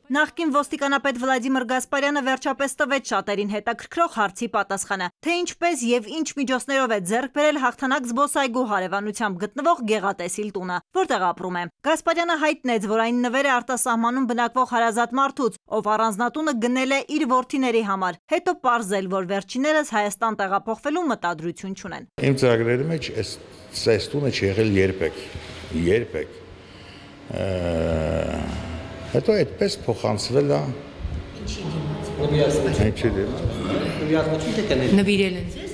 Նախկին ոստիկանապետ Վլադիմիր Գասպարյանը վերջապես տվեց շատերին հետաքրքրող հարցի պատասխանը, թե ինչպես եւ ինչ միջոցներով է ձեռք բերել հաղթանակ զբոսայգու հարևանությամբ գտնվող Գեղատեսիլ տունը, որտեղ ապրում է։ Գասպարյանը հայտնեց, որ այն նվեր է արտասահմանում բնակվող հարազատ մարդուց, ով առանձնատունը գնել է իր որդիների համար, հետո պարզել, որ վերջիններս Հայաստան տեղափոխվելու մտադրություն չունեն։ Իմ ծրագրերի մեջ այս տունը չի եղել երբեք։ Հետո այդպես փոխանցվել է։ Նվիրել են ձեզ։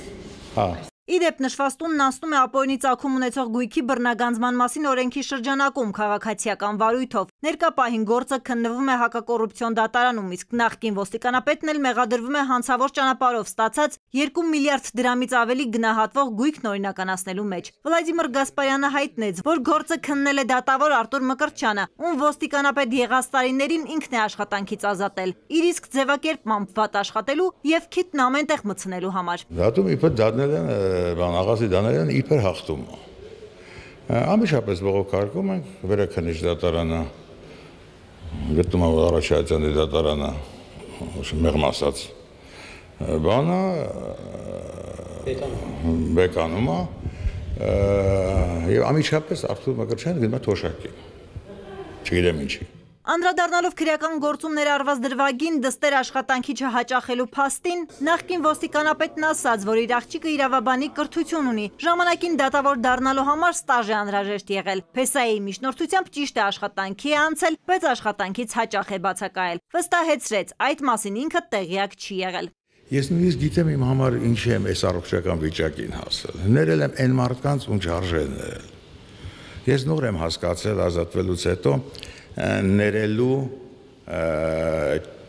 Հա։ Իդեպ նշված տունն անցնում է ապօրինի ծագում ունեցող գույքի բռնագանձման մասին օրենքի շրջանակում քաղաքացիական վարույթով։ Ներկա պահին գործը քննվում է հակակոռուպցիոն դատարանում, իսկ նախկին ոստիկանապետն էլ մեղադրվում է հանցավոր ճանապարհով ստացած 2 միլիարդ դրամից ավելի գնահատվող գույքն օրինականացնելու մեջ։ Վլադիմիր Գասպարյանը հայտնեց, որ գործը քննել է դատավոր Արտուր Մկրտչյանը, ում ոստիկանապետ եղած տարիներին ինքն է աշխատանքից ազատել, իր իսկ ձևակերպմամբ վատ աշխատելու եւ քիթն ամեն տեղ մտցնելու համար։ Դատում իբր դատնել են աղասի դաներն իբր հաղթում։ Ամիշապես բողոքարկում ենք վերաքննիչ դատարանը, գտնում եմ Արաքելյանի դատարանը, մեղմ ասած, բանը բեկանում է, եւ ամիջապես Արտուր Մկրտչյանը գնում է թոշակի։ Չգիտեմ ինչի։ Անդրադառնալով քրեական գործում ներառված դրվագին դստեր աշխատանքի չհաճախելու փաստին, նախկին ոստիկանապետն ասաց, որ իր աղջիկը իրավաբանի կրթություն ունի, ժամանակին դատավոր դառնալու համար ստաժ է անհրաժեշտ եղել, փեսայի միջնորդությամբ ճիշտ է աշխատանքի է անցել, բայց աշխատանքից հաճախ է բացակայել, վստահեցրեց, այդ մասին ինքը տեղյակ չի եղել։ Ես նույնիսկ գիտեմ իմ համար ինչ եմ այս առողջական վիճակին հասել, ներել եմ այն մարդկանց, ում չարժե ներել։ Ես նոր եմ հասկացել ազատվելուց հետո ներելու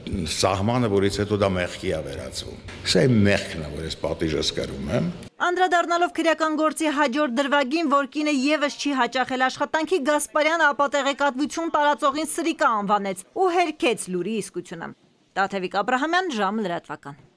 սահմանը, որից հետո դա մեղքի է վերածվում։ Սա է մեղքն է, որ ես պատիժս կրում եմ։ Անդրադառնալով քրեական գործի հաջորդ դրվագին, որ կինը եւս չի հաճախել աշխատանքի, Գասպարյանը ապատեղեկատվություն տարածողին սրիկա անվանեց ու հերքեց լուրի իսկությունը։ Տաթևիկ Աբրահամյան, Ժամ լրատվական։